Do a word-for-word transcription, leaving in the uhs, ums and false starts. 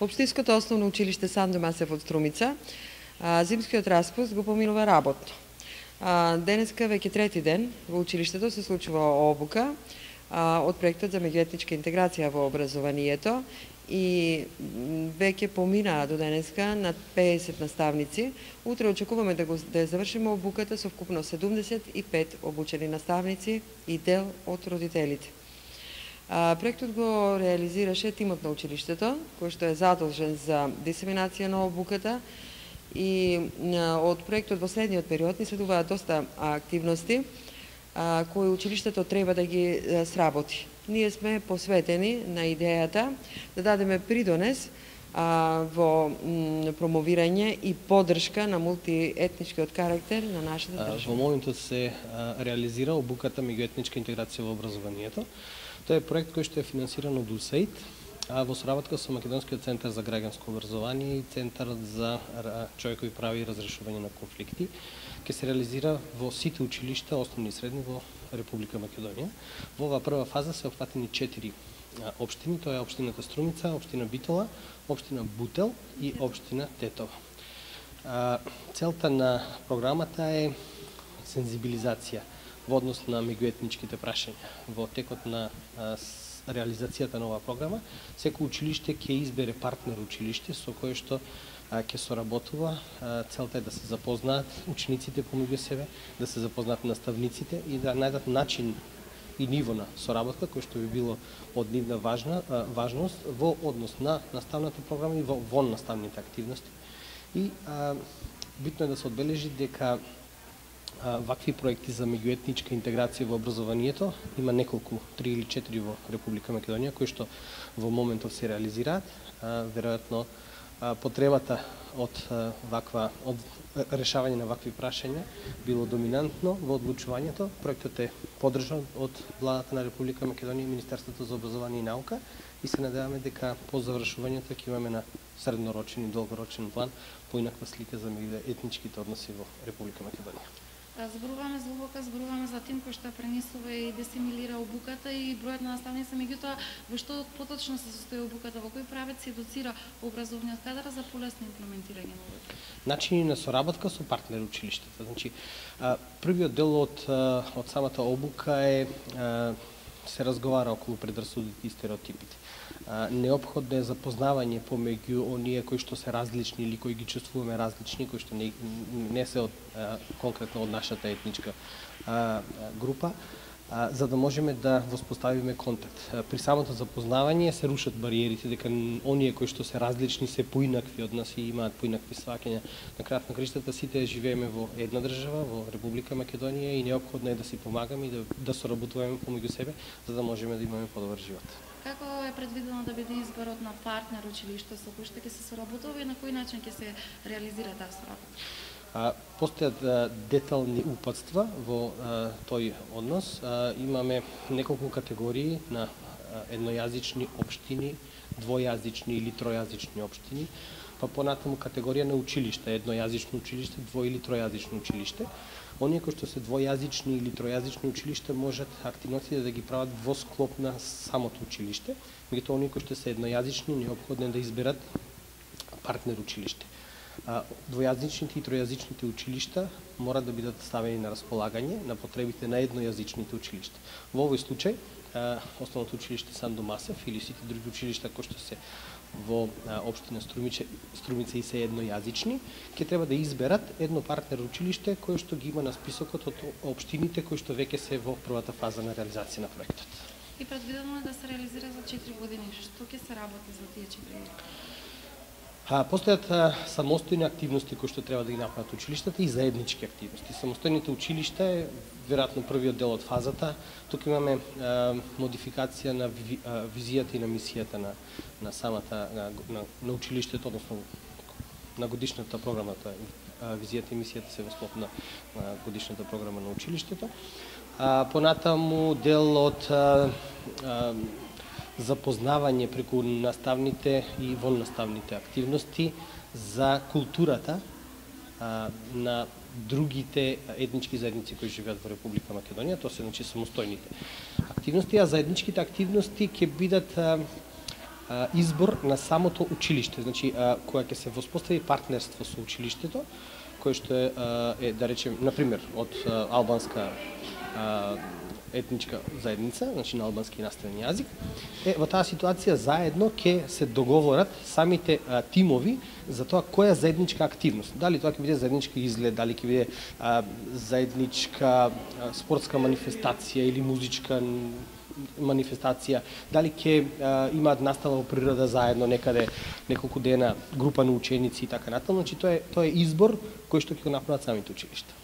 Општинското основно училиште Сандо Масев од Струмица, зимскиот распуст го поминува работно. Денеска веќе трети ден во училиштето се случува обука од проектот за меѓуетничка интеграција во образованието и веќе поминаа до денеска над педесет наставници. Утре очекуваме да го да ја завршиме обуката со вкупно седумдесет и пет обучени наставници и дел од родителите. Проектот го реализираше тимот на училиштето, кој што е задолжен за дисеминација на обуката, и од проектот во следниот период ни следуваат доста активности кои училиштето треба да ги сработи. Ние сме посветени на идејата да дадеме придонес во промовирање и поддршка на мултиетничкиот карактер на нашата држава. Во моментот се реализира обуката меѓуетничка интеграција во образованието. Тоа е проект кој што е финансиран од УСАИД, во соработка со Македонскиот центар за граѓанско образование и Центарот за човекови прави и разрешување на конфликти. Ке се реализира во сите училишта, основни и средни, во Република Македонија. Во оваа прва фаза се опфатени четири општини, тоа е општината Струмица, општина Битола, општина Бутел и општина Тетово. Целта на програмата е сензибилизација во однос на меѓуетничките прашања. Во текот на реализацијата на оваа програма, секој училиште ќе избере партнер училиште со кое што ќе соработува. Целта е да се запознаат учениците помеѓу себе, да се запознаат наставниците и да најдат начин и ниво на соработка кој што би било од нивна важна важност во однос на наставната програма и во вон наставните активности. И а, битно е да се одбележи дека а, вакви проекти за меѓуетничка интеграција во образованието има неколку, три или четири во Република Македонија кои што во моментов се реализираат. А, веројатно потребата од ваква од решавање на вакви прашања било доминантно во одлучувањето. Проектот е поддржан од владата на Република Македонија и Министерството за образование и наука и се надеваме дека по завршувањето ќе имаме на среднорочен и долгорочен план поинаква слика за меѓуетничките односи во Република Македонија. Зборуваме за обука, зборуваме за тим кој што пренесува и десимилира обуката и бројот на наставници, меѓутоа во што поточно се состои обуката, во кој правец се едуцира образовниот кадар за полесно имплементирање на обуката? Начини на соработка со партнер училиштата. Значи, првиот дел од од самата обука е се разговара околу предрасудите и стереотипите. Неопходно е запознавање помеѓу оние кои што се различни или кои ги чувствуваме различни, кои што не, не се од, а, конкретно од нашата етничка а, група, а, за да можеме да воспоставиме контакт. При самото запознавање се рушат бариерите, дека оние кои што се различни се поинакви од нас и имаат поинакви сваќања. На крајот на криштата сите живееме во една држава, во Република Македонија, и неопходно е да си помагаме и да, да соработуваме помеѓу себе, за да можеме да имаме подобар живот. Како е предвидено да биде изборот на партнер училиште со кој што ќе се соработува и на кој начин ќе се реализира таа соработка? Постојат детални упатства во а, тој однос. А, имаме неколку категории на а, еднојазични општини, двојазични или тројазични општини, па понатаму категорија на училишта, еднојазично училиште, дво или тројазично училиште. Оние кои што се двојазични или тројазични училиште можат активностите да ги прават во склоп на самото училиште, меѓутоа оние кои што се еднојазични неопходно е да изберат партнер училиште. Двојазичните и тројазичните училишта мора да бидат ставени на располагање на потребите на еднојазичните училишта. Во овој случај основното училиште Сандо Масев или сите други училишта кои што се во општина Струмица, Струмица и се еднојазични, ќе треба да изберат едно партнер училиште кое што ги има на списокот од општините кои што веќе се во првата фаза на реализација на проектот. И предвидено е да се реализира за четири години. Што ќе се работи за тие четири години? А, постојат а, самостојни активности кои што треба да ги направат училиштата и заеднички активности. Самостојните училишта е веројатно првиот дел од фазата. Тука имаме а, модификација на ви, а, визијата и на мисијата на, на самата на, на, на училиштето, односно на годишната програма. Тоа е визијата и мисијата се во склоп на, на годишната програма на училиштето. А, понатаму дел од а, а, запознавање преку наставните и воннаставните активности за културата а, на другите етнички заедници кои живеат во Република Македонија, тоа се значи самостојните активности, а заедничките активности ќе бидат а, а, избор на самото училиште. Значи, а, кога ќе се воспостави партнерство со училиштето, кој што е, а, е да речем, на пример, од а, албанска а, етничка заедница, значи на албански наставен јазик, е во таа ситуација заедно ќе се договорат самите а, тимови за тоа која заедничка активност. Дали тоа ќе биде заеднички изглед, дали ќе биде а, заедничка а, спортска манифестација или музичка манифестација, дали ќе имаат настава во природа заедно некаде неколку дена, група на ученици и така натаму. Значи тоа е тоа е избор кој што ќе го направат самите училишта.